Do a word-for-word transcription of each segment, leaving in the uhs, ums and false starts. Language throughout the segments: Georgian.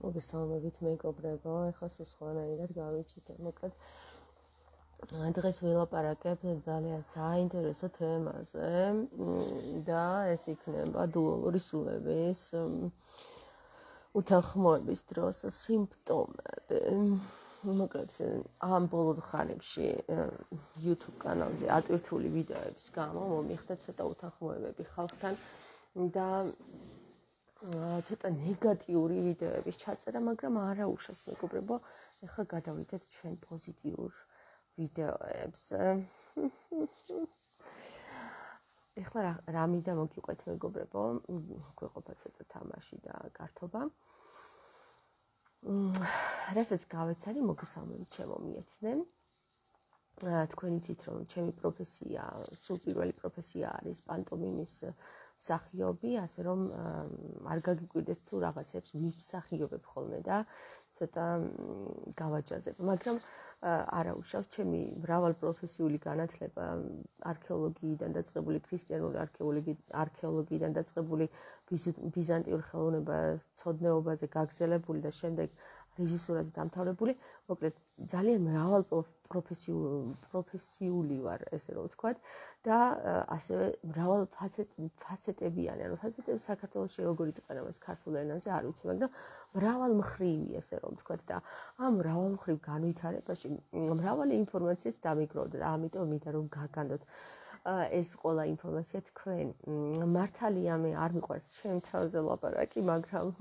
მოგესალმებით მეგობრებო, ეხლა სულ სხვანაირად გავიჩით. მოკლედ დღეს ვილაპარაკებ ძალიან საინტერესო თემაზე და ეს იქნება დუალური სულების უთანხმოების დროს სიმპტომები. მოკლედ ამ ბოლო ხანებში YouTube კანალზე ატვირთული ვიდეოების გამო მომიხდა ცოტა უთანხმოებები ხალხთან და ცოტა ნეგატიური ვიდეოების ჩაწერა, მაგრამ არა უშავს მეგობრებო, ეხლა გადავიდეთ ჩვენ პოზიტიურ ვიდეოებს. ეხლა რა მინდა მოგიყვეთ მეგობრებო, გვეყოფა ცოტა თამაში და გართობა. რასაც გავეცანი, მოგესალმებით ჩემო მიეცნენ. თქვენ იცით რომ ჩემი პროფესია, სულ პირველი პროფესია არის პანტომიმის მსახიობი, ასე რომ არ გაგიკვირდეთ თუ რაღაცებს ვიმსახიობებ ხოლმე და ცოტა გავაჯაზებ, მაგრამ არა უშავს ჩემი მრავალპროფესიული განათლება არქეოლოგიიდან დაწყებული, ქრისტიანული არქეოლოგიიდან დაწყებული, ბიზანტიურ ხელოვნებას ცოდნეობაზე გაგრძელებული და შემდეგ რეჟისურაზე დამთავრებული, მოკლედ ძალიან მრავალპროფესიული ვარ, ესე რომ ვთქვათ, და ასევე მრავალფაცეტებიანი, ანუ ფაცეტები საქართველოში როგორ იტყვენა ეს ქართულ ენაზე, არ ვიცი, მაგრამ მრავალმხრივი, ესე რომ ვთქვათ, და ამ მრავალმხრივ განვითარებაში მრავალი ინფორმაციაც დამიგროვდა, ამიტომ მინდა რომ გაგანდოთ ეს ყველა ინფორმაცია თქვენ. მართალია მე არ მიყვარს ჩემ თავზე ლაპარაკი, მაგრამ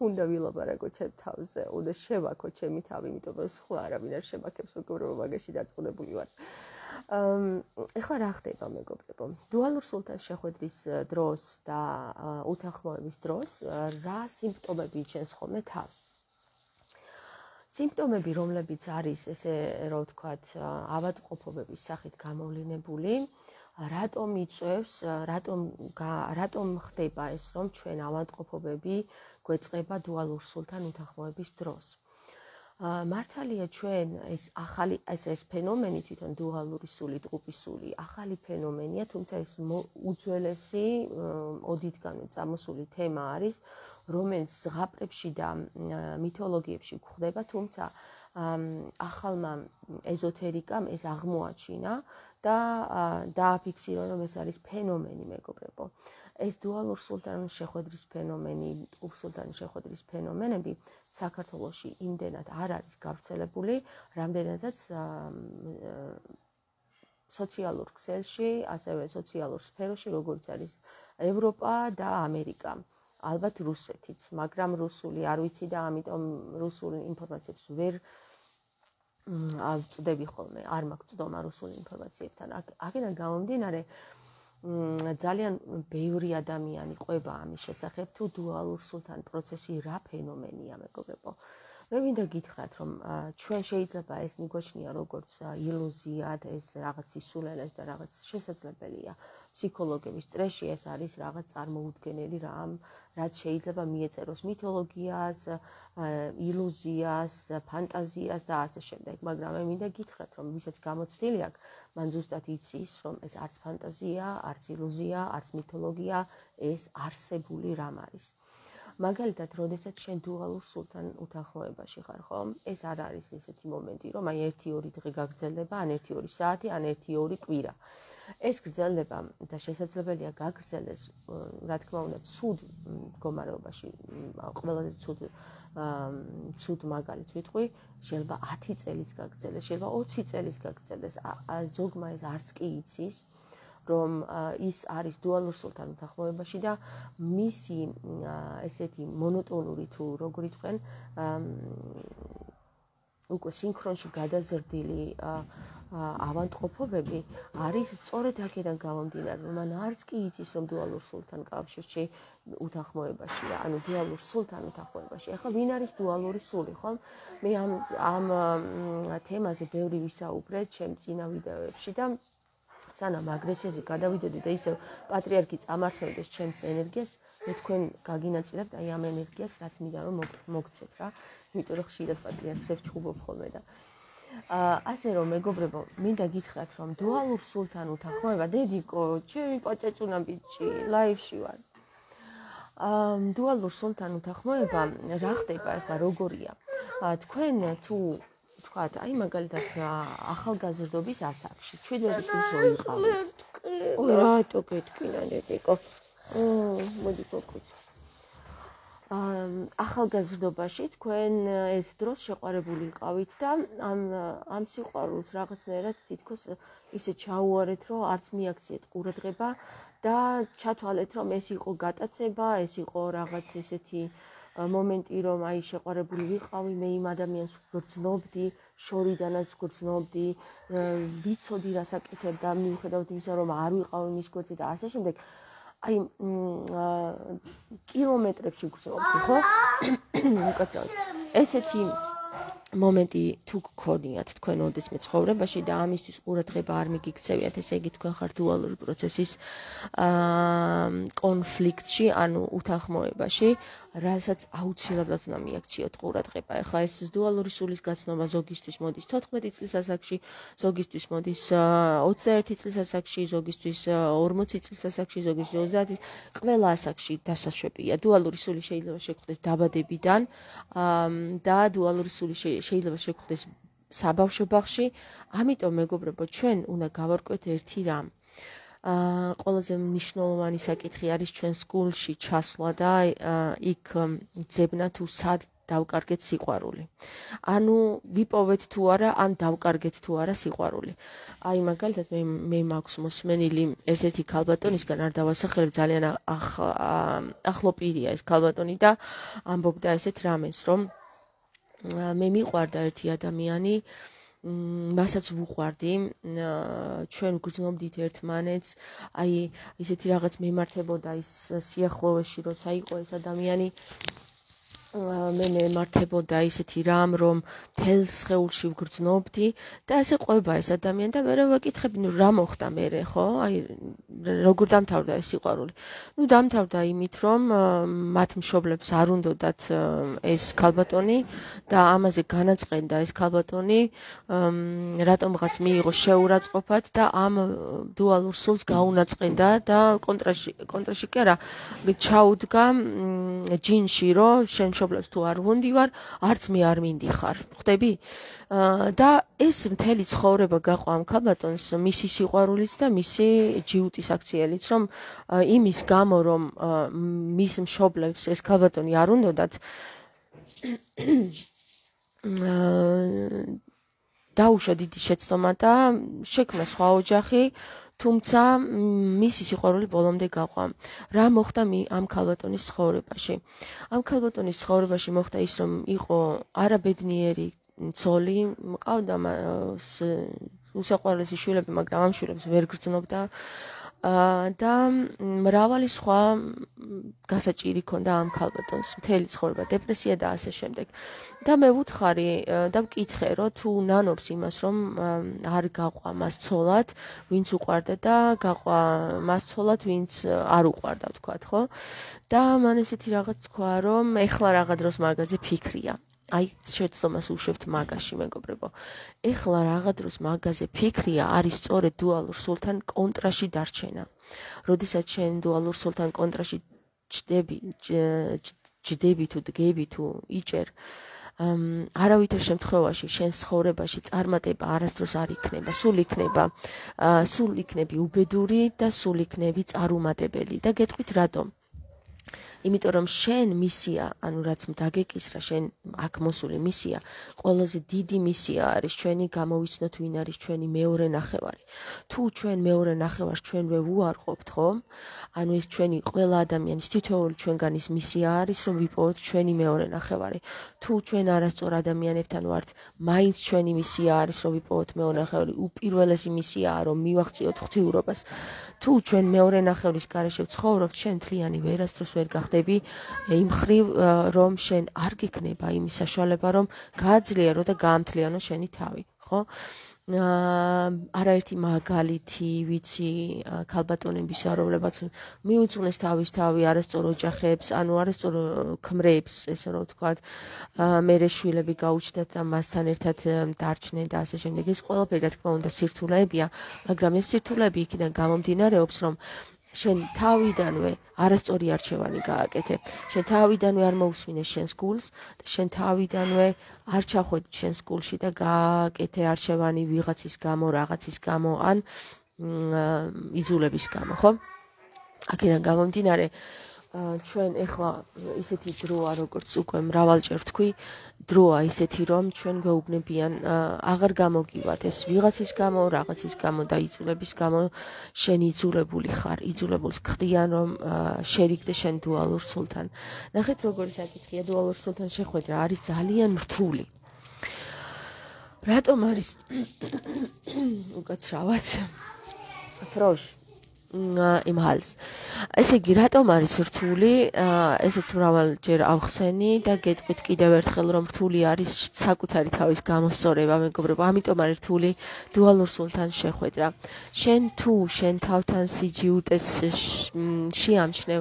უნდა ვილაპარაკო ჩემ თავზე, უნდა შევაქო ჩემი თავი, იმიტომ რომ სხვა არავინ არ შემაქებს, მეგობრებო, მაგაში დაწუნებული ვარ. ეხლა რა ხდება მეგობრებო? დუალურ სულთან შეხვედრის დროს და უთანხმოების დროს რა სიმპტომები იჩენს ხოლმე თავს? სიმპტომები, რომლებიც არის, ესე რომ ვთქვათ, ავადმყოფობების სახით გამოვლინებული, რატომ იწევს, რატომ რატომ ხდება ეს, რომ ჩვენ ავადმყოფობები გვეწყება დუალურ სულთან უთანხმოების დროს? მართალია ჩვენ ეს ახალი ეს ეს ფენომენი თვითონ დუალური სული, ტყუპი სული, ახალი ფენომენია, თუმცა ეს უძველესი ოდითგანვე წამოსული თემა არის, რომელიც ზღაპრებში და მითოლოგიებში გვხვდება, თუმცა ახალმა ეზოთერიკამ ეს აღმოაჩინა და დააფიქსირა, რომ ეს არის ფენომენი, მეგობრებო. ეს დუალურ სულთან შეხვედრის ფენომენი, ტყუპ სულთან შეხვედრის ფენომენები საქართველოში იმდენად არ არის გავრცელებული, რამდენადაც სოციალურ ქსელში, ასევე სოციალურ სფეროში, როგორც არის ევროპა და ამერიკა. ალბათ რუსეთიც, მაგრამ რუსული არ ვიცი და ამიტომ რუსულ ინფორმაციებს ვერ ავწდები ხოლმე, არ მაქვს წვდომა რუსულ ინფორმაციებთან. აქედან გამომდინარე, ძალიან ბევრი ადამიანი ყვება ამის შესახებ, თუ დუალურ სულთან პროცესი რა ფენომენია, მეგობრებო. მე მინდა გითხრათ, რომ ჩვენ შეიძლება ეს მიგვაჩნია როგორც ილუზიად, ეს რაღაც სისულელეს და რაღაც შესაძლებელია. ფსიქოლოგების წრეში ეს არის რაღაც წარმოუდგენელი რამ, რაც შეიძლება მიეწეროს მითოლოგიას, ილუზიას, ფანტაზიას და ასე შემდეგ. მაგრამ მე მინდა გითხრათ, რომ ვისაც გამოცდილი აქვს, მან ზუსტად იცის, რომ ეს არც ფანტაზია, არც ილუზია, არც მითოლოგია, ეს არსებული რამ არის. მაგალითად, როდესაც შენ დუალურ სულთან უთანხმოებაში ხარ, ხო? ეს არ არის ესეთი მომენტი, რომ აი ერთი ორი დღე გაგრძელდება, ან ერთი ორი საათი, ან ერთი ორი კვირა. ეს გრძელდება და შესაძლებელია გაგრძელდეს, რა თქმა უნდა, ცუდ მდგომარეობაში, ყველაზე ცუდ ცუდ მაგალითს ვიტყვი, შეიძლება ათი წელიც გაგრძელდეს, შეიძლება ოცი წელიც გაგრძელდეს. ზოგმა ეს არც კი იცის, რომ ის არის დუალურ სულთან უთანხმოებაში და მისი ესეთი მონოტონური თუ როგორ იტყვენ, უკვე სინქრონში გადაზრდილი ავადმყოფობები არის სწორედ აქედან გამომდინარე, რომ მან არც კი იცის, რომ დუალურ სულთან კავშირში უთანხმოებაშია, ანუ დუალურ სულთან უთანხმოებაში. ახლა ვინ არის დუალური სული, ხო? მე ამ ამ თემაზე ბევრი ვისაუბრე ჩემ წინა ვიდეოებში და სანამ აგრესიაზე გადავიდოდი და ისევ პატრიარქი წამართმევდეს ჩემს ენერგიას, მე თქვენ გაგინაწილებთ აი ამ ენერგიას, რაც მინდა რომ მოგცეთ რა. იმიტომ რომ ხშირად პატრიარქს ვჩხუბობ ხოლმე და ასე რომ მეგობრებო, მინდა გითხრათ, რომ დუალურ სულთან უთანხმოება, დედიკო, ჩემი პაჭაჭუნა ბიჭი, ლაივში ვარ. დუალურ სულთან უთანხმოება რა ხდება ახლა როგორია? თქვენ თუ თქვათ, აი მაგალითად ახალგაზრდობის ასაკში, შვიდმეტი წლის რო იყავით. ой, რატო გეტკინა ნეტიკო? მოდი გოგოც. ახალგაზრდობაში თქვენ ერთ დროს შეყვარებული იყავით და ამ ამ სიყვარულს რაღაცნაირად თითქოს ისე ჩაუარეთ, რომ არც მიაქციეთ ყურადღება და ჩათვალეთ, რომ ეს იყო გატაცება, ეს იყო რაღაც ესეთი მომენტი, რომ აი შეყვარებული ვიყავი, მე იმ ადამიანს ვგრძნობდი, შორიდანაც ვგრძნობდი, ვიცოდი რას აკეთებდა, მიუხედავად იმისა, რომ არ ვიყავი მის გვერდზე და ასე შემდეგ. აი კილომეტრებში გრძნობდი, ხო? უკაცრავად. ესეთი მომენტი თუ გქონიათ თქვენ ოდესმე ცხოვრებაში და ამისთვის ყურადღება არ მიგიქცევიათ, ესე იგი თქვენ ხართ დუალური პროცესის კონფლიქტში, ანუ უთანხმოებაში, რასაც აუცილებლად უნდა მიაქციოთ ყურადღება. ეხლა ეს დუალური სულის გაცნობა ზოგისთვის მოდის თოთხმეტი წლის ასაკში, ზოგისთვის მოდის ოცდაერთი წლის ასაკში, ზოგისთვის ორმოცი წლის ასაკში, ზოგისთვის ოცდაათი. ყველა ასაკში დასაშვებია. დუალური სული შეიძლება შეგხვდეს დაბადებიდან და დუალური სული შეიძლება შეგხვდეს საბავშვო ბაღში. ამიტომ მეგობრებო, ჩვენ უნდა გავარკვევთ ერთი რამ. აა ყველაზე მნიშვნელოვანი საკითხი არის ჩვენ სკოლში ჩასვლა და იქ ძებნა თუ სად დავკარგეთ სიყვარული. ანუ ვიპოვეთ თუ არა, ან დავკარგეთ თუ არა სიყვარული. აი მაგალითად მე მე მაქვს მოსმენილი ერთ-ერთი ქალბატონისგან, არ დავასახელებ, ძალიან ახლო პირია ეს ქალბატონი და ამბობდა ესეთ რამეს, რომ მე მიყვარდა ერთი ადამიანი, მასაც ვუყვარდი, ჩვენ ვგრძნობდით ერთმანეთს, აი ისეთი რაღაც მემართებოდა ის სიახლოვეში, როცა იყო ეს ადამიანი, მე მემართებოდა ისეთი რამ, რომ თელს სხეულში ვგრძნობდი და ასე ყვება ეს ადამიანი და მე ვაკითხები, ნუ რა მოხდა მერე, ხო? აი როგორ დამთავრდა ეს სიყვარული? ნუ დამთავრდა იმით, რომ მათ მშობლებს არ უნდათ ეს ქალბატონი და ამაზე განაწყენდა ეს ქალბატონი, რატომღაც მიიღო შეურაცხყოფად და ამ დუალურ სულს გაუნაწყენდა და კონტრაში კონტრაში კი არა, ჩაუდგა ჯინში, რომ შენ მშობლებს თუ არ ვუნდივარ, არც მე არ მინდიხარ. ხვდები? და ეს მთელი ცხოვრება გაყვა ამ ქალბატონს მისი სიყვარულიც და მისი ჯიუტის აქციელიც, რომ იმის გამო, რომ მის მშობლებს ეს ქალბატონი არ უნდათ, დაუშვა დიდი შეცდომა და შექმნა სხვა ოჯახი, თუმცა მისი სიყვარული ბოლომდე გაყვა. რა მოხდა ამ ქალბატონის ცხოვრებაში? ამ ქალბატონის ცხოვრებაში მოხდა ის, რომ იყო არაბედნიერი ცოლი, მყავდა უსაყვარლესი შვილები, მაგრამ ამ შვილებს ვერ გრძნობდა და მრავალი სხვა გასაჭირი ჰქონდა ამ ქალბატონს, მთელი ცხოვრება, დეპრესია და ასე შემდეგ. და მე ვუთხარი და ვკითხე, რომ თუ ნანობს იმას, რომ არ გაყვა მას ცოლად, ვინც უყვარდა და გაყვა მას ცოლად, ვინც არ უყვარდა, ვთქვათ, ხო? და მან ესეთი რაღაც თქვა, რომ ეხლა რაღა დროს მაგაზე ფიქრია. აი, შეცდომას უშვებთ მაგაში, მეგობრებო. ეხლა რაღა დროს მაგაზე ფიქრია, არის სწორედ დუალურ სულთან კონტრაში დარჩენა. როდესაც შენ დუალურ სულთან კონტრაში ჯდები, ჯდები თუ დგები თუ იჭერ, არავითარ შემთხვევაში შენ ცხოვრებაში წარმატება არასდროს არ იქნება, სულ იქნება, სულ იქნები უბედური და სულ იქნები წარუმატებელი და გეტყვით რატომ? იმიტომ რომ შენ მისია, ანუ რაც დაგეკისრა, შენ აქ მოსული მისია, ყველაზე დიდი მისია არის ჩვენი გამოვიცნოთ ვინ არის ჩვენი მეორე ნახევარი. თუ ჩვენ მეორე ნახევარს ჩვენვე ვუარყოფთ, ხო? ანუ ეს ჩვენი ყველა ადამიანის თითოეული ჩვენგანის მისია არის, რომ ვიპოვოთ ჩვენი მეორე ნახევარი. თუ ჩვენ არასწორ ადამიანებთან ვართ, მაინც ჩვენი მისია არის, რომ ვიპოვოთ მეორე ნახევარი. უპირველესი მისიაა, რომ მივაღწიოთ ღვთიურობას. თუ ჩვენ მეორე ნახევრის გარეშე ვცხოვრობთ, შენ მთლიანი ვერასდროს ვერ გახდები იმ ხრივ, რომ შენ არ გიქნება იმის საშუალება, რომ გააძლიერო და გაამთლიანო შენი თავი, ხო? არაერთი მაგალითი ვიცი ქალბატონებისა, რომლებაც მიუძღვნეს თავის თავი არასწორ ოჯახებს, ანუ არასწორ ქმრებს, ესე რომ ვთქვათ, მერე შვილები გაუჩნდათ და მასთან ერთად დარჩნენ და ასე შემდეგ. ეს ყველაფერი, რა თქმა უნდა, სირთულეებია, მაგრამ ეს სირთულეები იქიდან გამომდინარეობს, რომ შენ თავიდანვე არასწორი არჩევანი გააკეთე. შენ თავიდანვე არ მოусმინე შენს გულს და შენ თავიდანვე არ ჩახვედი შენს გულში და გააკეთე არჩევანი ვიღაცის გამო, რაღაცის გამო ან იზულების გამო, ხო? აქედან გამომდინარე ჩვენ ეხლა ისეთი დროა, როგორც უკვე მრავალჯერ თქვი, დროა ისეთი, რომ ჩვენ გვეუბნებიან აღარ გამოგივათ ეს ვიღაცის გამო, რაღაცის გამო და იზულების გამო შენ იძულებული ხარ, იძულებულს ხდიან, რომ შერიგდე შენ დუალურ სულთან. ნახეთ, როგორი საკითხია დუალურ სულთან შეხვედრა, არის ძალიან რთული. რატომ არის უკაცრავად? ფროშ იმ ჰალს. ესე იგი, რატომ არის რთული? ესეც მრავალჯერ ავხსენი და გეტყვით კიდევ ერთხელ, რომ რთული არის საკუთარი თავის გამოსწორება, მეგობრებო. ამიტომ არის რთული დუალურ სულთან შეხვედრა. შენ თუ შენ თავთან სიჯიუტეს შეამჩნევ,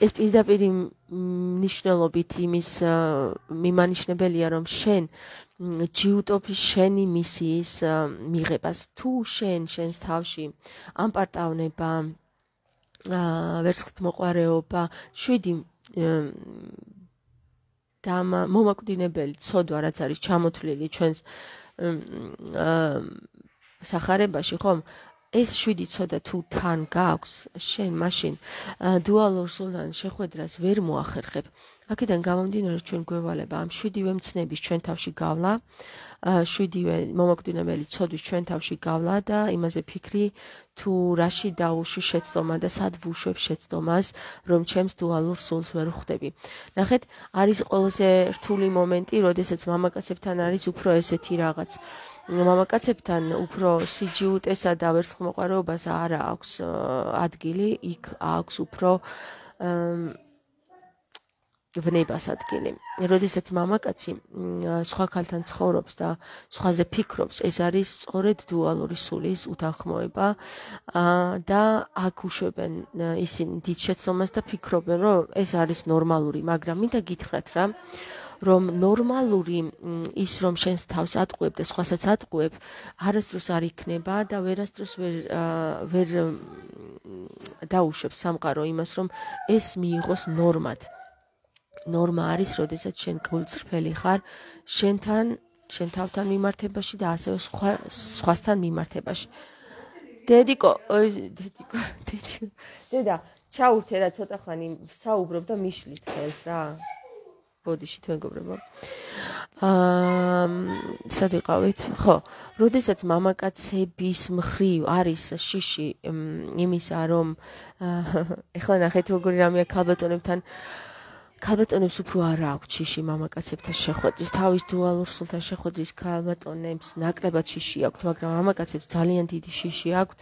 ეს პირდაპირ მნიშვნელობით იმის მიმანიშნებელია, რომ შენ ჯიუტობ შენი მისიის მიღებას. თუ შენ შენს თავში ამპარტავნება, ვერცხლთმოყვარეობა, შვიდი და მომაკვდინებელი ცოდვა, რაც არის ჩამოთვლილი ჩვენს სახარებაში, ხომ? ეს შვიდი ცოდა თუ თან გაქვს, შენ მაშინ დუალურ სულთან შეხვედრას ვერ მოახერხებ. აქედან გამომდინარე, ჩვენ გვევალება ამ შვიდივე მცნების ჩვენ თავში გავლა, შვიდივე მომაკვდინებელი ცოდვის ჩვენ თავში გავლა და იმაზე ფიქრი, თუ რაში დაუშვი შეცდომა და სად ვუშვებ შეცდომას, რომ ჩემს დუალურ სულს ვერ ვხვდები. ნახეთ, არის ყველაზე რთული მომენტი, როდესაც მამაკაცებთან არის უფრო ესეთი რაღაც. მამაკაცებთან უფრო სიჯიუტესა და ვერცხლმოყვარეობას არ აქვს ადგილი, იქ აქვს უფრო ვნებას ადგილი. როდესაც მამაკაცი სხვა ქალთან ცხოვრობს და სხვაზე ფიქრობს, ეს არის სწორედ დუალური სულის უთანხმოება და აქ უშვებენ ისინი დიდ შეცდომას და ფიქრობენ, რომ ეს არის ნორმალური, მაგრამ მინდა გითხრათ რა, რომ ნორმალური ის, რომ შენს თავს ატყუებ და სხვასაც ატყუებ, არასდროს არ იქნება და ვერასდროს ვერ ვერ დაუშვებს სამყარო იმას, რომ ეს მიიღოს ნორმად. ნორმა არის, როდესაც შენ გულწრფელი ხარ შენთან, შენ თავთან მიმართებაში და ასევე სხვა სხვასთან მიმართებაში. დედიკო, დედიკო, დედიკო. დედა, ჩაურთე რა ცოტა ხანი საუბრობ და მიშლით ხელს რა. ბოდიშით მეგობრებო. აა, სად ვიყავით? ხო, როდესაც მამაკაცების მხრივ არის შიში იმისა, რომ ეხლა ნახეთ როგორი რამეა ქალბატონებთან ქალბატონებს უფრო არ აქვს შიში მამაკაცებთან შეხვედრის, თავის დუალურ სულთან შეხვედრის ქალბატონებს ნაკლებად შიში აქვთ, მაგრამ მამაკაცებს ძალიან დიდი შიში აქვთ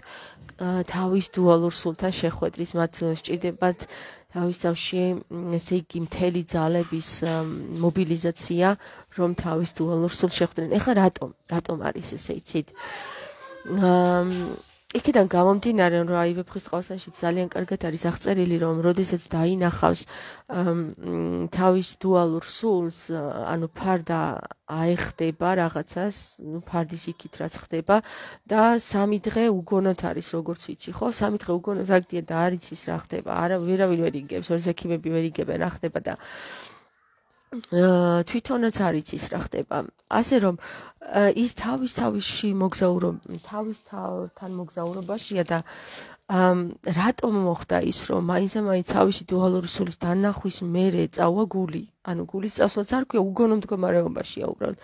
თავის დუალურ სულთან შეხვედრის, მათ სჭირდებათ თავის თავში ესე იგი მთელი ძალების მობილიზაცია, რომ თავის დუალურ სულს შეხვდნენ. ეხლა რატომ? რატომ არის ესე იცით? აა იქიდან გამომდინარე, რომ აი ვეფხისტყაოსანში ძალიან კარგად არის აღწერილი, რომ როდესაც დაინახავს თავის დუალურ სულს, ანუ ფარდა აეხდება რაღაცას, ნუ ფარდის იქით რაც ხდება და სამი დღე უგონოდ არის, როგორც ვიცი, ხო? სამი დღე უგონოდ აგდია და არ იცის რა ხდება. არა, ვერავინ ვერ იგებს, ორ ზექიმები ვერ იგებენ რა ხდება და თვითონაც არ იცის რა ხდება. ასე რომ ის თავის თავში მოგზაურობ, თავის თავთან მოგზაურობაშია და რატომ მოხდა ის, რომ მაინც-მაინც თავისი დუალური სულის დანახვის მერე წავა გული, ანუ გულის წასვლაც არ ქვია, უგონო მდგომარეობაშია უბრალოდ.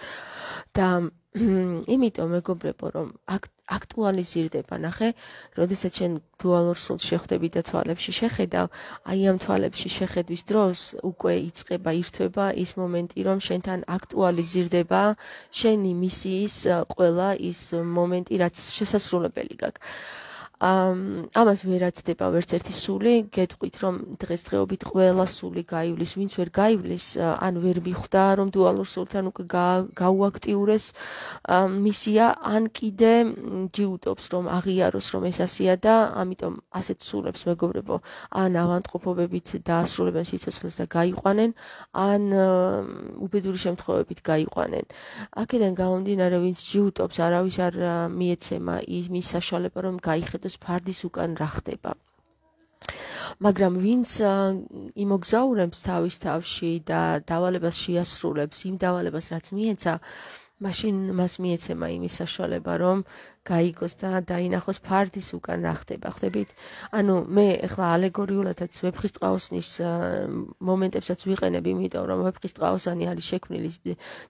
და იმიტომ მეგობრებო, რომ აქტუალიზირდება, ნახე, როდესაც შენ დუალურ სულს შეხვდები და თვალებში შეხედავ, აი ამ თვალებში შეხედვის დროს უკვე იწყება ირთვება ის მომენტი, რომ შენთან აქტუალიზირდება შენი მისიის ყველა ის მომენტი, რაც შესასრულებელი გაქვს. ამას ვერ აცდება ვერც ერთი სული, გეტყვით, რომ დღესდღეობით ყველა სული გაივლის, ვინც ვერ გაივლის, ან ვერ მიხვდა, რომ დუალურ სულთან უკვე გაუაქტიურეს მისია, ან კიდე ჯიუტობს, რომ აღიაროს, რომ ეს ასია და ამიტომ ასეთ სულებს მეგობრებო, ან ავანტყოფობებით დაასრულებენ სიცოცხლეს და გაიყვანენ, ან უბედური შემთხვევებით გაიყვანენ. აქედან გამომდინარე, ვინც ჯიუტობს, არავის არ მიეცემა იმის საშუალება, რომ გაიხედოს მიხვდეს ფარდის უკან რა ხდება. მაგრამ ვინც იმოგზაურებს თავის თავში და დავალებას შეასრულებს იმ დავალებას რაც მიეცა მაშინ მას მიეცემა იმის საშუალება რომ გაიგოს და დაინახოს ფარდის უკან რა ხდება. ხვდებით? ანუ მე ახლა ალეგორიულადაც ვეფხისტყაოსნის მომენტებსაც ვიყენებ, იმიტომ რომ ვეფხისტყაოსანი არის შექმნილი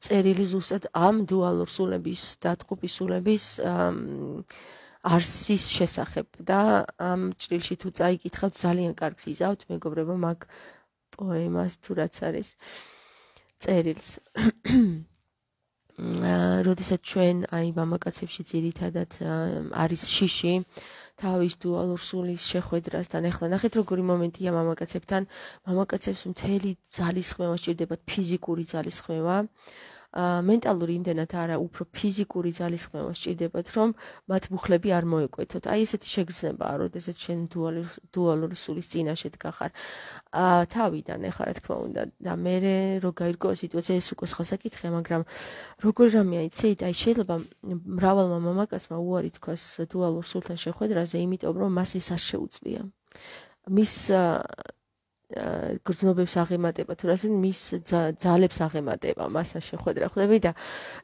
წერილი ზუსტად ამ დუალურ სულების და ტყუპის სულების არსის შესახებ და ამ ჭრილში თუ წაიკითხავთ ძალიან კარგს იზავთ მეგობრებო მაგ პოემას თუ რაც არის წერილს. როდესაც ჩვენ აი მამაკაცებში ძირითადად არის შიში თავის დუალურ სულის შეხვედრასთან ახლა ნახეთ როგორი მომენტია მამაკაცებთან მამაკაცებს მთელი ძალისხმევა სჭირდებათ ფიზიკური ძალისხმევა მენტალური იმდენად არა უფრო ფიზიკური ძალისხმევა სჭირდებათ რომ მათ მუხლები არ მოეკვეთოთ. აი ესეთი შეგრძნებაა როდესაც შენ დუალური სულის წინაშე დგახარ თავიდან ახლა რა თქმა უნდა და მე რო გაირკვევა სიტუაცია ეს უკვე სხვა საკითხია მაგრამ როგორ რამეა იცით აი შეიძლება მრავალმა მამაკაცმა უარი თქვას დუალურ სულთან შეხვედრაზე იმიტომ რომ მას ეს არ შეუძლია მის გრძნობებს აღემატება თუ რასენ მის ძალებს აღემატება მასთან შეხვედრა ხვდები და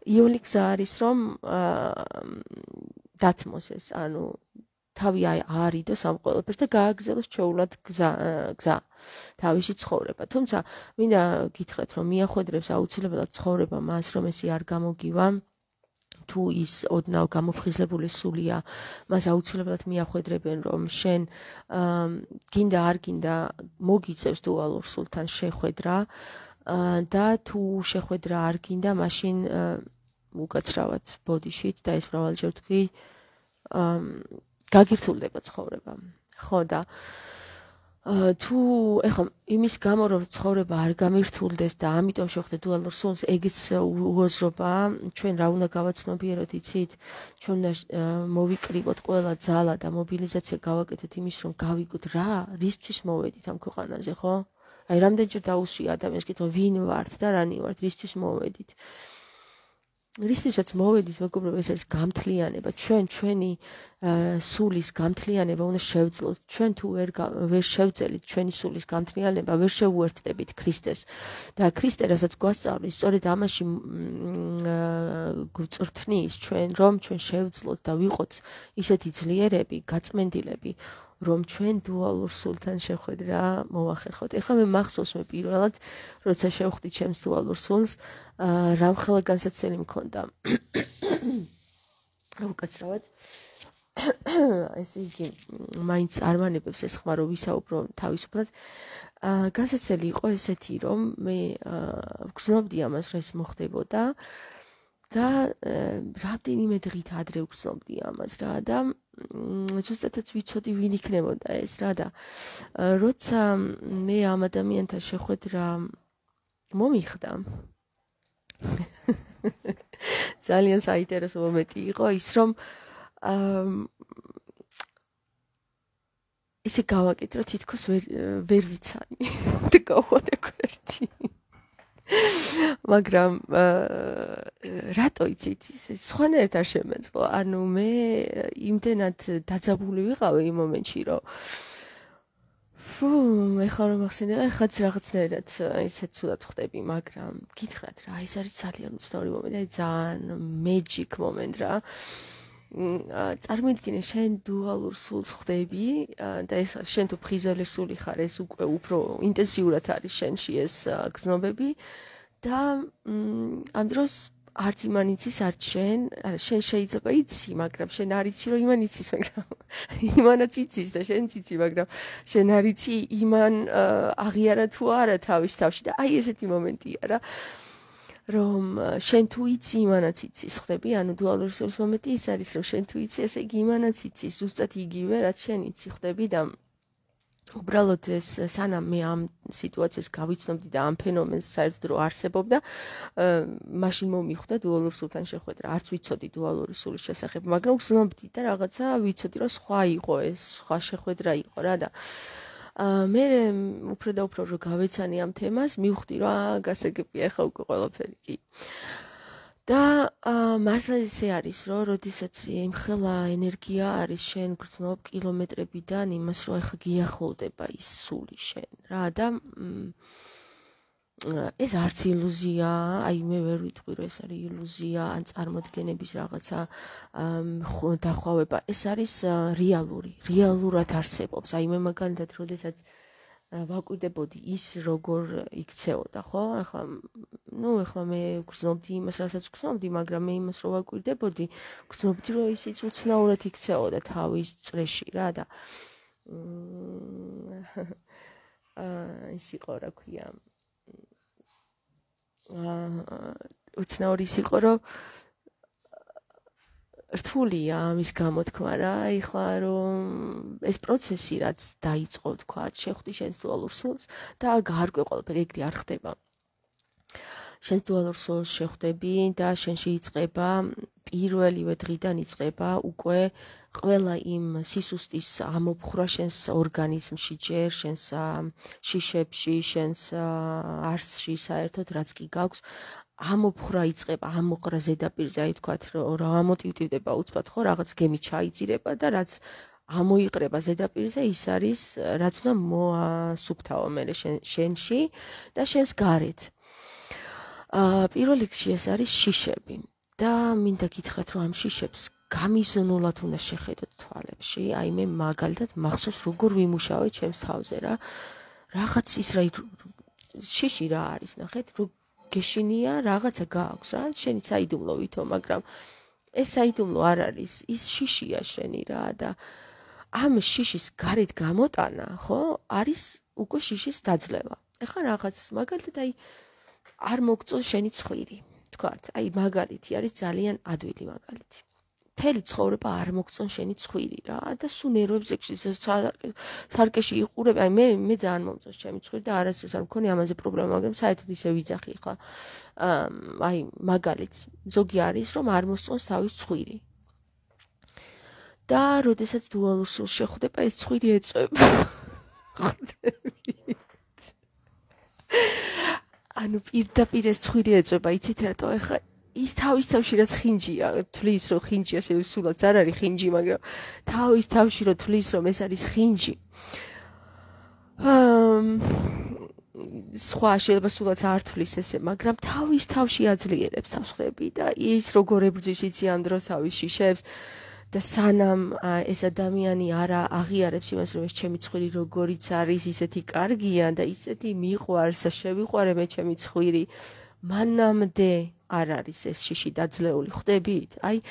იული გზა არის რომ დათმოს ეს ანუ თავი აარიდოს ამ ყველაფერს და გააგრძელოს ჩვეულად გზა გზა თავისი ცხოვრება თუმცა მინდა გითხრათ რომ მიახვედრებს აუცილებლად ცხოვრება მას რომ ესი არ გამოგივა თუ ის ოდნავ გამოფხიზლებული სულია მას აუცილებლად მიახვედრებენ რომ შენ გინდა არ გინდა მოგიწევს დუალურ სულთან შეხვედრა და თუ შეხვედრა არ გინდა მაშინ უკაცრავად ბოდიშით და ეს მრავალჯერ თქვი გაგირთულდება ცხოვრება ხო და თუ ეხლა იმის გამო რომ ცხოვრება არ გამირთულდეს და ამიტომ შეხვდეთ დუალურ სულს ეგეც უაზრობა ჩვენ რა უნდა გავაცნობიეროთ იცით ჩვენ უნდა მოვიკრიბოთ ყველა ძალა და მობილიზაცია გავაკეთოთ იმის რომ გავიგოთ რა რისთვის მოვედით ამ ქვეყანაზე ხო აი რამდენჯერ დაუსვია ადამიანს კითხვა ვინ ვართ და რანი ვართ რისთვის მოვედით რისთვისაც მოვედით მეგობრებო ეს არის გამთლიანება ჩვენ ჩვენი სულის გამთლიანება უნდა შევძლოთ ჩვენ თუ ვერ ვერ შევძელით ჩვენი სულის გამთლიანება ვერ შევუერთდებით ქრისტეს და ქრისტე რასაც გვასწავლის სწორედ ამაში გვწრთნის ჩვენ რომ ჩვენ შევძლოთ და ვიყოთ ისეთი ძლიერები გაწმენდილები რომ ჩვენ დუალურ სულთან შეხვედრა მოვახერხოთ. ეხლა მე მახსოვს მე პირველად როცა შევხვდი ჩემს დუალურ სულს რამხელა განსაცდელი მქონდა. უკაცრავად ესე იგი მაინც არ მანებებს ეს ხმა რომ ვისაუბრო თავისუფლად განსაცდელი იყო ესეთი რომ მე ვგრძნობდი ამას რომ ეს მოხდებოდა და რამდენიმე დღით ადრე ვგრძნობდი ამას რა და ზუსტადაც ვიცოდი ვინ იქნებოდა ეს რა და როცა მე ამ ადამიანთან შეხვედრა მომიხდა ძალიან საინტერესო მომენტი იყო ის რომ ისე გავაკეთე რომ თითქოს ვერ ვერ ვიცანი და გავხარე გვერდი მაგრამ რატო იცით სხვანაირად არ შემეძლო ანუ მე იმდენად დაძაბული ვიყავი იმ მომენტში რომ ფუ ეხლა რომ ახსენე ეხლა რაღაცნაირად ისე ცუდად ხდები მაგრამ გითხრათ რა ეს არის ძალიან უცნაური მომენტი აი ძალიან magic moment რა წარმოიდგინე შენ დუალურ სულს ხდები და ეს შენ თუ ფხიზელი სული ხარ ეს უკვე უფრო ინტენსიურად არის შენში ეს გრძნობები და ამ დროს არც იმან იცის არც შენ არა შენ შეიძლება იცი მაგრამ შენ არ იცი რომ იმან იცის მაგრამ იმანაც იცის და შენც იცი მაგრამ შენ არ იცი იმან აღიარა თუ არა თავის თავში და აი ესეთი მომენტია რა რომ შენ თუ იცი იმანაც იცის ხდები ანუ დუალური სულის მომენტი ის არის რომ შენ თუ იცი ესე იგი იმანაც იცის ზუსტად იგივე რაც შენ იცი ხდები და უბრალოდ ეს სანამ მე ამ სიტუაციას გავიცნობდი და ამ ფენომენს საერთოდ რო არსებობდა მაშინ მომიხვდა დუალურ სულთან შეხვედრა არც ვიცოდი დუალური სულის შესახებ მაგრამ ვგრძნობდი და რაღაცა ვიცოდი რომ სხვა იყო ეს სხვა შეხვედრა იყო რა და მე უფრო და უფრო რო გავეცანი ამ თემას მივხვდი რომ გასაგებია ახლა უკვე ყველაფერი კი და მართლა ისე არის, რომ როდესაც იმხელა ენერგია არის შენ გრძნობ კილომეტრებიდან იმას, რომ ეხა გიახლოვდება ის სული შენ რა და ეს არც ილუზიაა, აი მე ვერ ვიტყვი რომ ეს არის ილუზია ან წარმოდგენების რაღაცა დახვავება, ეს არის რეალური, რეალურად არსებობს. აი მე მაგალითად როდესაც ვაკვირდებოდი ის როგორ იქცეოდა, ხო? ახლა ნუ ახლა მე გრძნობდი იმას, რასაც გრძნობდი, მაგრამ მე იმას რო ვაკვირდებოდი, გრძნობდი რომ ისიც უცნაურად იქცეოდა თავის წრეში რა და აა ის იყო რა ქვია უცნაური ის იყო, რომ რთულია ამის გამოთქმა რა, ეხლა რომ ეს პროცესი რაც დაიწყო თქვა, შეხვდი შენს დუალურ სულს და გაარკვე ყველაფერი, ეგრე არ ხდება. შენს დუალურ სულს შეხვდები და შენში იწყება პირველივე დღიდან იწყება უკვე ყველა იმ სისუსტის ამოფხრა შენს ორგანიზმში ჯერ, შენს შიშებში, შენს არსში საერთოდ რაც კი გაქვს ამოფხრა იწყება, ამოყრა ზედაპირზე, აი თქვათ რომ ამოტივტივდება უცბად ხო, რაღაც გემი ჩაიძირება და რაც ამოიყრება ზედაპირზე, ის არის რაც უნდა მოასუფთავო მე შენში და შენს გარეთ. აა პირველ რიგში ეს არის შიშები და მინდა გითხრათ რომ ამ შიშებს გამიზნულად უნდა შეხედოთ თვალებში, აი მე მაგალითად მახსოვს როგორ ვიმუშავე ჩემს თავზე რა. რაღაც ის რა შიში რა არის, ნახეთ, რომ გეშინია რაღაცა გააქვს რა, შენი საიდუმლო ვითო, მაგრამ ეს საიდუმლო არ არის, ის შიშია შენი რა და ამ შიშის გარეთ გამოტანა, ხო, არის უკვე შიშის დაძლევა. ეხლა რაღაც მაგალითად აი არ მოგწონს შენი ცხვირი, თქვათ, აი მაგალითი არის ძალიან ადვილი მაგალითი. მთელი ცხოვრება არ მოგწონს შენი ცხვირი რა და სულ ნერვებზე სარკეში იყურებ, აი მე მე ძალიან მომწონს ჩემი ცხვირი და არასდროს არ მქონია ამაზე პრობლემა, მაგრამ საერთოდ ისე ვიძახი ხა. აი მაგალითს ზოგი არის რომ არ მოსწონს თავის ცხვირი. და როდესაც დუალურ სულს შეხვდება, ეს ცხვირი ეწვება. ანუ პირდაპირ ეს ცხვირი ეწვება, იცით რატო ეხა ის თავის თავში რაც ხინჯია, თვლის რომ ხინჯი ასე სულაც არ არის ხინჯი, მაგრამ თავის თავში რომ თვლის რომ ეს არის ხინჯი. აა სხვა შეიძლება სულაც არ თვლის ესე, მაგრამ თავის თავში აძლიერებს თავს ხვდები და ის როგორ ებრძვის იციან დროს თავის შიშებს და სანამ ეს ადამიანი არ აღიარებს იმას, რომ ეს ჩემი ცხვირი როგორიც არის, ისეთი კარგია და ისეთი მიყვარს და შევიყვარე მე ჩემი ცხვირი, მანამდე არ არის ეს შიში დაძლეული, ხვდებით? აი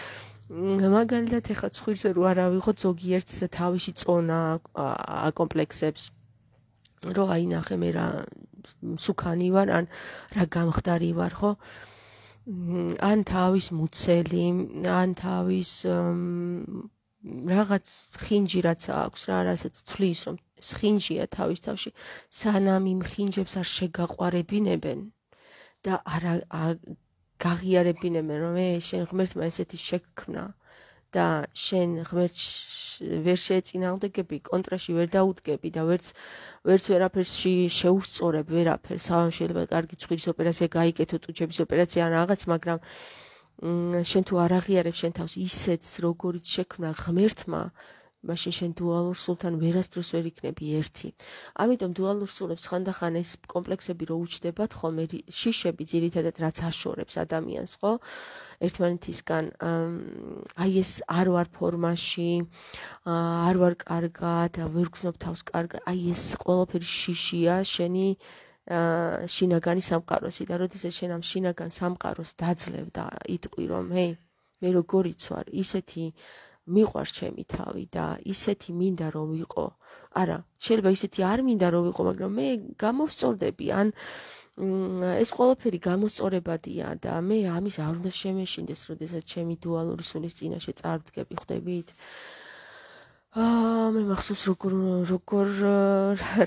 მაგალითად ეხლა ცხვირზე რო არ ავიღოთ ზოგიერთს თავისი წონა აკომპლექსებს, რომ აი ნახე მე რა სუქანი ვარ, ან რა გამხდარი ვარ, ხო? ან თავის მუცელი, ან თავის რაღაც ხინჯი რაც აქვს რა, რასაც თვლის რომ ხინჯია თავის თავში, სანამ იმ ხინჯებს არ შეგაყვარებინებენ და არ გაღიარებინებენ რომ მე შენ ღმერთმა ესეთი შექმნა და შენ ღმერთს ვერ შეეწინააღმდეგები, კონტრაში ვერ დაუდგები და ვერც ვერც ვერაფერს შეუსწორებ, ვერაფერს. შეიძლება კარგი ცხვირის ოპერაცია გაიკეთო, ტუჩების ოპერაცია ან რაღაც, მაგრამ შენ თუ არ აღიარებ შენ თავს ისეც როგორიც შექმნა ღმერთმა, მაშინ შენ დუალურ სულთან ვერასდროს ვერ იქნები ერთი. ამიტომ დუალურ სულებს ხანდახან ეს კომპლექსები რო უჩნდებათ ხოლმე, შიშები ძირითადად რაც აშორებს ადამიანს, ხო? ერთმანეთისგან აი ეს არ ვარ ფორმაში, არ ვარ კარგად, ვერ გრძნობ თავს კარგად, აი ეს ყველაფერი შიშია შენი შინაგანი სამყაროსი და როდესაც შენ ამ შინაგან სამყაროს დაძლევ და იტყვი რომ ჰეი, მე როგორიც ვარ, ისეთი მიყვარს ჩემი თავი და ისეთი მინდა რომ ვიყო. არა, შეიძლება ისეთი არ მინდა რომ ვიყო, მაგრამ მე გამოვსწორდები, ან ეს ყველაფერი გამოსწორებადია და მე ამის არ უნდა შემეშინდეს, როდესაც ჩემი დუალური სულის წინაშე წარვდგები, ხვდებით? აა მე მახსოვს როგორ როგორ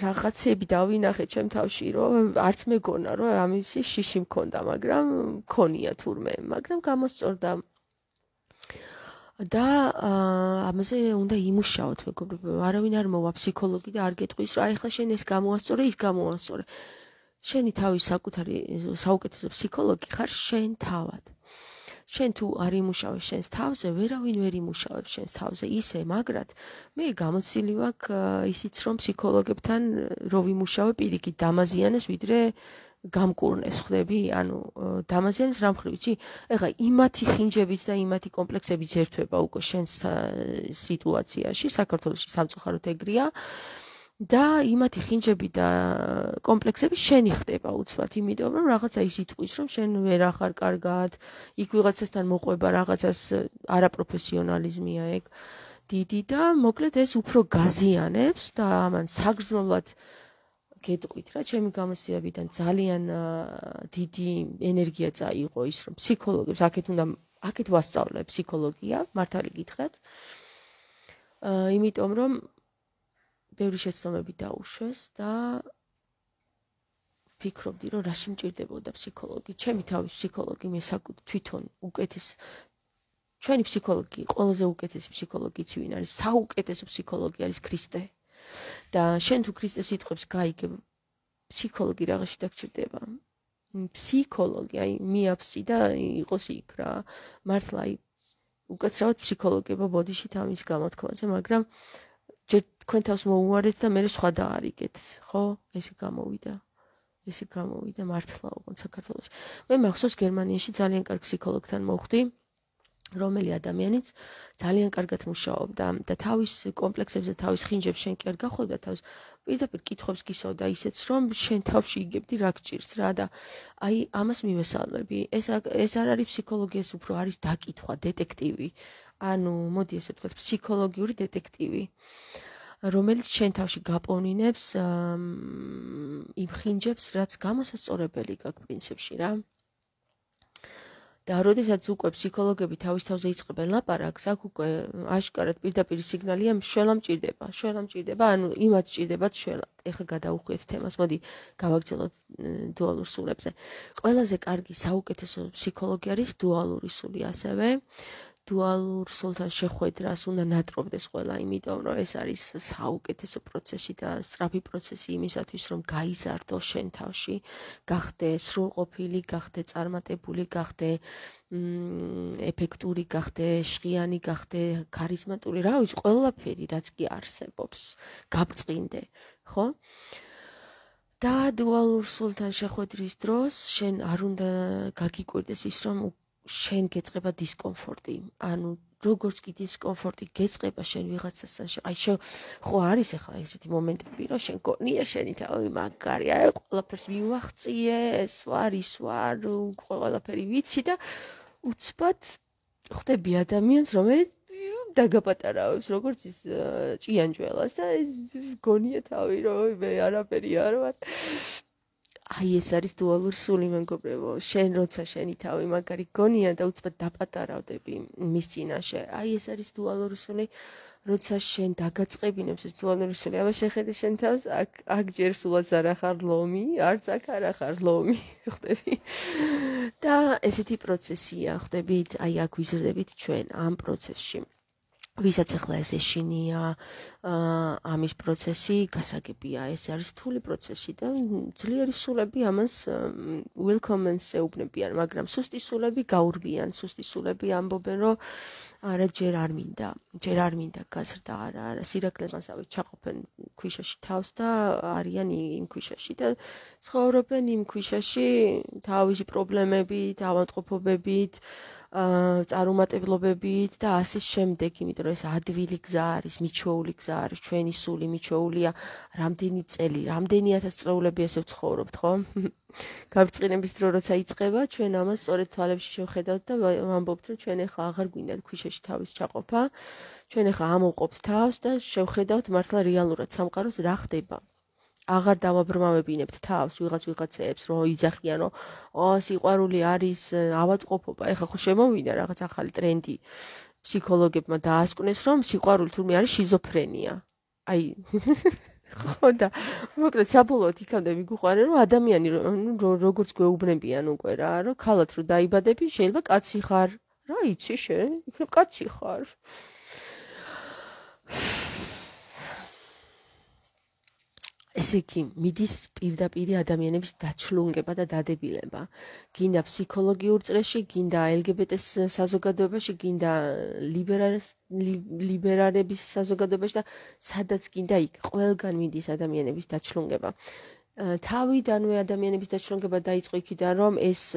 რაღაცები დავინახე ჩემ თავში, რომ არც მეგონა რომ ამისი შიში მქონდა, მაგრამ მქონია თურმე, მაგრამ გამოსწორდა. და ამაზე უნდა იმუშაოთ, მეგობრებო, არავინ არ მოვა ფსიქოლოგი და არ გეტყვის, რომ აი ხა შენ ეს გამოასწორე, ის გამოასწორე. შენი თავის საკუთარი საუკეთესო ფსიქოლოგი ხარ შენ თავად. შენ თუ არ იმუშავე შენს თავზე, ვერავინ ვერ იმუშავებს შენს თავზე ისე, მაგრად მე გამოცილი ვაქვს ისიც რომ ფსიქოლოგებთან რო ვიმუშავე პირიქით დამაზიანეს ვიდრე გამკურნეს ხვდები, ანუ დამაზიანეს რა მხრივ იცი? ეხლა იმათი ხინჯებიც და იმათი კომპლექსებიც ერთვება უკვე შენს სიტუაციაში, საქართველოში სამწუხაროდ ეგრეა. და იმათი ხინჯები და კომპლექსები შენი ხდება უცბად, იმიტომ რომ რაღაცა ის იტყვის, რომ შენ ვერ ახარ კარგად, იქ ვიღაცასთან მოყვება რაღაცას არაპროფესიონალიზმია ეგ დიდი და მოკლედ ეს უფრო გაზიანებს და ამან საგრძნობლად გეტყვით რა, ჩემი გამოცდილებიდან ძალიან დიდი ენერგია წაიღო ის, რომ ფსიქოლოგებს აქეთ უნდა აქეთ ვასწავლე ფსიქოლოგია, მართალი გითხრათ. იმიტომ რომ ბევრი შეცდომები დაუშვეს და ვფიქრობდი, რომ რაში მჭირდებოდა ფსიქოლოგი. ჩემი თავის ფსიქოლოგი მე თვითონ უკეთეს ჩვენი ფსიქოლოგი, ყველაზე უკეთესი ფსიქოლოგი იცი ვინ არის? საუკეთესო ფსიქოლოგი არის ქრისტე. და შენ თუ ქრისტეს სიტყვებს გაიგებ, ფსიქოლოგი რაღაცში დაგჭირდება. ფსიქოლოგი, აი მიაფსი და იყოს იქ რა. მართლა აი უკაცრავად ფსიქოლოგება ბოდიშით ამის გამოთქმაზე, მაგრამ ჯერ თქვენ თავს მოუარეთ და მე სხვა დაარიგეთ, ხო? ესე გამოვიდა. ესე გამოვიდა მართლა უყო საქართველოში. მე მახსოვს გერმანიაში ძალიან კარგ ფსიქოლოგთან მოვხვდი, რომელი ადამიანიც ძალიან კარგად მუშაობდა და თავის კომპლექსებს და თავის ხინჯებს შენ კი არ გახვდა თავს, პირდაპირ კითხვებს გისვავდა ისეც, რომ შენ თავში იგებდი რა გჭირს რა და აი ამას მივესალმები. ეს ეს არ არის ფსიქოლოგია, ეს უფრო არის დაკითხვა, დეტექტივი. ანუ მოდი ესე ვთქვათ, ფსიქოლოგიური დეტექტივი, რომელიც შენ თავში გაპოვნინებს იმ ხინჯებს, რაც გამოსასწორებელი გაქვს პრინციპში რა. და როდესაც უკვე ფსიქოლოგები თავის თავზე იწყებენ ლაპარაკს, აქ უკვე აშკარად პირდაპირ სიგნალია, შველა მჭირდება, შველა მჭირდება, ანუ იმათ მჭირდებათ შველა. ეხლა გადავუხვიეთ თემას, მოდი გავაგრძელოთ დუალურ სულებზე. ყველაზე კარგი საუკეთესო ფსიქოლოგი არის დუალური სული ასევე. დუალურ სულთან შეხვედრას უნდა ნატრობდეს ყველა, იმიტომ რომ ეს არის საუკეთესო პროცესი და სწრაფი პროცესი იმისათვის, რომ გაიზარდო შენ თავში, გახდე სრულყოფილი, გახდე წარმატებული, გახდე ეფექტური, გახდე შხიანი, გახდე ქარიზმატული, რა ვიცი, ყველაფერი რაც კი არსებობს, გაბწყინდე, ხო? და დუალურ სულთან შეხვედრის დროს შენ არ უნდა გაგიკვირდეს ის, რომ შენ გეწყება დისკომფორტი, ანუ როგორც კი დისკომფორტი გეწყება შენ ვიღაცასთან, აი ხო არის ახლა ესეთი მომენტები, რომ შენ გონია შენი თავი მაგარი, აი ყველაფერს მივახციე, ეს ვარ, ის ვარ, ყველაფერი ვიცი და უცბად ხვდები ადამიანს, რომელიც დაგაპატარავებს, როგორც ის ჭიანჭველას და გონია თავი, რომ მე არაფერი არ ვარ. აი ეს არის დუალური სული, მეგობრებო, შენ როცა შენი თავი მაგარი გონია და უცბად დაპატარავდები მის წინაშე, აი ეს არის დუალური სული, როცა შენ დაგაწყებინებს ეს დუალური სული, აბა შეხედე შენ თავს, აქ აქ ჯერ სულაც არ ახარ ლომი, არც აქ არ ახარ ლომი, ხვდები? და ესეთი პროცესია, ხვდებით, აი აქ ვიზრდებით ჩვენ ამ პროცესში. ვისაც ახლა ეს ეშინია ამის პროცესი გასაგებია, ეს არის რთული პროცესი და ძლიერი სულები ამას welcome-ს ეუბნებიან, მაგრამ სუსტი სულები გაურბიან, სუსტი სულები ამბობენ, რომ არა ჯერ არ მინდა, ჯერ არ მინდა გაზრდა, არა, არა, სირაკლებასავე ჩაყოფენ ქვიშაში თავს და არიან იმ ქვიშაში და ცხოვრობენ იმ ქვიშაში თავისი პრობლემებით, ავადმყოფობებით, წარუმატებლობებით და ასე შემდეგ, იმიტომ რომ ეს ადვილი გზა არის, მიჩვეული გზა არის, ჩვენი სული მიჩვეულია რამდენი წელი, რამდენი ათას წლეულები ესე ვცხოვრობთ, ხო? გაბრწყინების დრო როცა იწყება, ჩვენ ამას სწორედ თვალებში შევხედავთ და ვამბობთ, რომ ჩვენ ახლა აღარ გვინდათ ქვიშაში თავის ჩაყოფა, ჩვენ ახლა ამოვყოფთ თავს და შევხედავთ მართლა რეალურად სამყაროს რა ხდება. აღარ დავაბრმავებინებთ თავს ვიღაც ვიღაცებს, რომ იძახიან, რომ ო სიყვარული არის ავადმყოფობა. ეხლა ხო შემოვიდა რაღაც ახალი ტრენდი ფსიქოლოგებმა დაასკვნეს, რომ სიყვარული თურმე არის შიზოფრენია. აი ხო და მოკლედ საბოლოოდ იქამდე მიგუყარე, რომ ადამიანი როგორც გვეუბნებიან უკვე რა, რომ ქალად რო დაიბადები, შეიძლება კაცი ხარ. რა იცი შენ? იქნებ კაცი ხარ. ესე იგი, მიდის პირდაპირ ადამიანების დაჩლუნგება და დადებილება. გინდა ფსიქოლოგიურ წრეში, გინდა ელ გი ბი ტე-ს საზოგადოებაში, გინდა ლიბერალების საზოგადოებაში და სადაც გინდა იქ ყველგან მიდის ადამიანების დაჩლუნგება. თავიდანვე ადამიანების დაჩლუნგება დაიწყო იქიდან, რომ ეს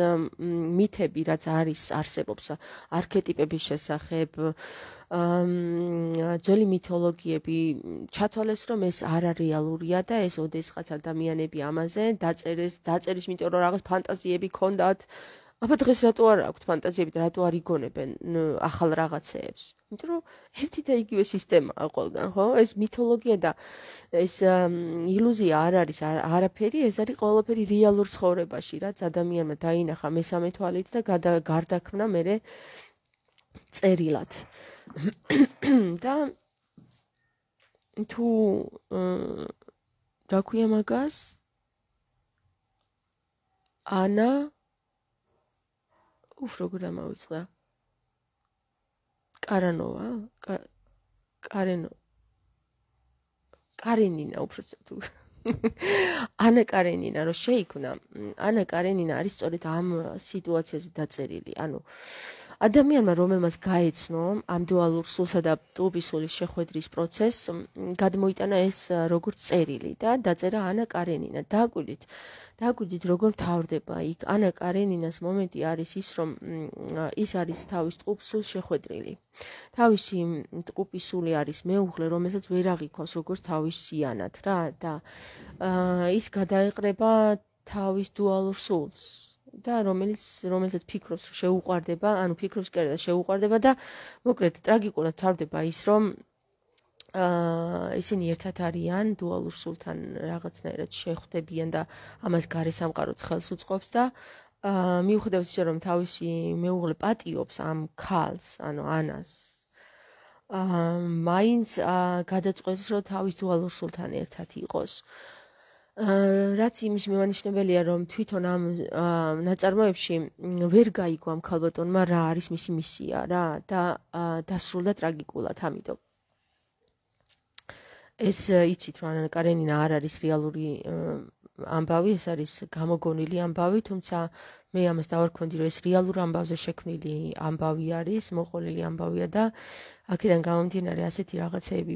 მითები, რაც არის, არსებობს არქეტიპების შესახებ, ძველი მითოლოგიები ჩათვალეს, რომ ეს არარეალურია და ეს ოდესღაც ადამიანები ამაზე დაწერეს, დაწერის, იმიტომ რომ რაღაც ფანტაზიები ქონდათ. აბა დღეს რატო არ აქვთ ფანტაზიები და რატო არ იგონებენ ახალ რაღაცეებს? იმიტომ რომ ერთი და იგივე სისტემაა ყველგან, ხო? ეს მითოლოგია და ეს ილუზია არ არის არაფერი, ეს არის ყველაფერი რეალურ ცხოვრებაში, რაც ადამიანმა დაინახა მესამე თვალით და გარდაქმნა მერე წერილად. და თუ რა ქვია მაგას? ანა უფ როგორ დამავიწყდა? კარანოვა? კარენო. კარენინა უბრალოდ თუ ანა კარენინა რო შეიქმნა, ანა კარენინა არის სწორედ ამ სიტუაციაზე დაწერილი. ანუ ადამიანმა, რომელმაც გაეცნო ამ დუალურ სულსა და ტუბისულის შეხვედრის პროცესს, გადმოიტანა ეს როგორც წერილი და დაწერა ანა კარენინა. დააკვირდით, დააკვირდით როგორ მთავრდება იქ. ანა კარენინას მომენტი არის ის, რომ ის არის თავის ტყუპსულს შეხვედრილი. თავისი ტყუპისული არის მეუღლე, რომელსაც ვერ აღიქვამს როგორც თავის სიანად რა და ის გადაეყრება თავის დუალურ სულს. და რომელიც რომელსაც ფიქრობს რომ შეუყვარდება, ანუ ფიქრობს კი არა და შეუყვარდება და მოკლედ ტრაგიკულად თავდება ის რომ აა ისინი ერთად არიან დუალურ სულთან რაღაცნაირად შეხვდებიან და ამას გარე სამყაროც ხელს უწყობს და აა მიუხედავად ისე რომ თავისი მეუღლე პატიობს ამ ქალს, ანუ ანას აა მაინც გადაწყვეტს რომ თავის დუალურ სულთან ერთად იყოს. რაც იმის მემანიშნებელია, რომ თვითონ ამ ნაწარმოებში ვერ გაიგო ამ ქალბატონმა რა არის მისი მისია რა და დასრულდა ტრაგიკულად, ამიტომ ეს იცით რომ ანა კარენინა არ არის რეალური ამბავი, ეს არის გამოგონილი ამბავი, თუმცა მე ამას დავარქვენდი, რომ ეს რეალურ ამბავზე შექმნილი ამბავი არის, მოყოლილი ამბავია და აქედან გამომდინარე ასეთი რაღაცეები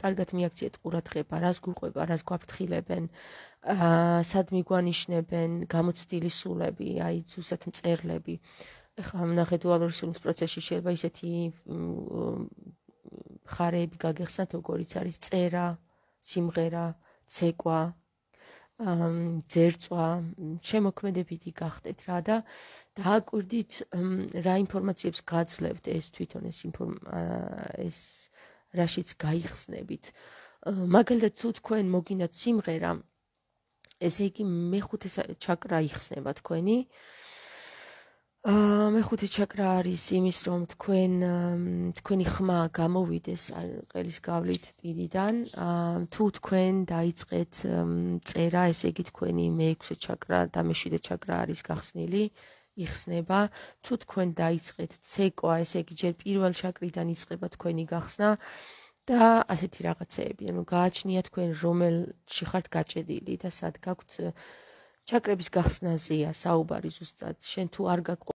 კარგად მიაქციეთ ყურადღება, რას გუყვება, რას გვაფრთხილებენ, სად მიგვანიშნებენ, გამოცდილი სულები, აი ზუსტად მწერლები. ეხლა ნახე დუალური სულის პროცესში შეიძლება ისეთი ხარეები გაგეხსნათ, როგორიც არის წერა, სიმღერა, ცეკვა, ძერწვა, შემოქმედებითი გახდეთ რა და დააკვირდით რა ინფორმაციებს გაძლევთ ეს თვითონ ეს ეს რაშიც გაიხსნებით. მაგალითად თუ თქვენ მოგინდათ სიმღერა, ესე იგი მეხუთე ჩაკრა იხსნება თქვენი. აა მეხუთე ჩაკრა არის იმის რომ თქვენ თქვენი ხმა გამოვიდეს ყელის გავლით პირიდან, თუ თქვენ დაიწყეთ წერა, ესე იგი თქვენი მეექვსე ჩაკრა და მეშვიდე ჩაკრა არის გახსნილი, იხსნება. თუ თქვენ დაიწყეთ ცეკვა, ესე იგი ჯერ პირველ ჩაკრიდან იწყება თქვენი გახსნა და ასეთი რაღაცეები. ანუ გააჩნია თქვენ რომელში ხართ გაჭედილი და სად გაქვთ ჩაკრების გახსნაზეა საუბარი ზუსტად. შენ თუ არ გაქვს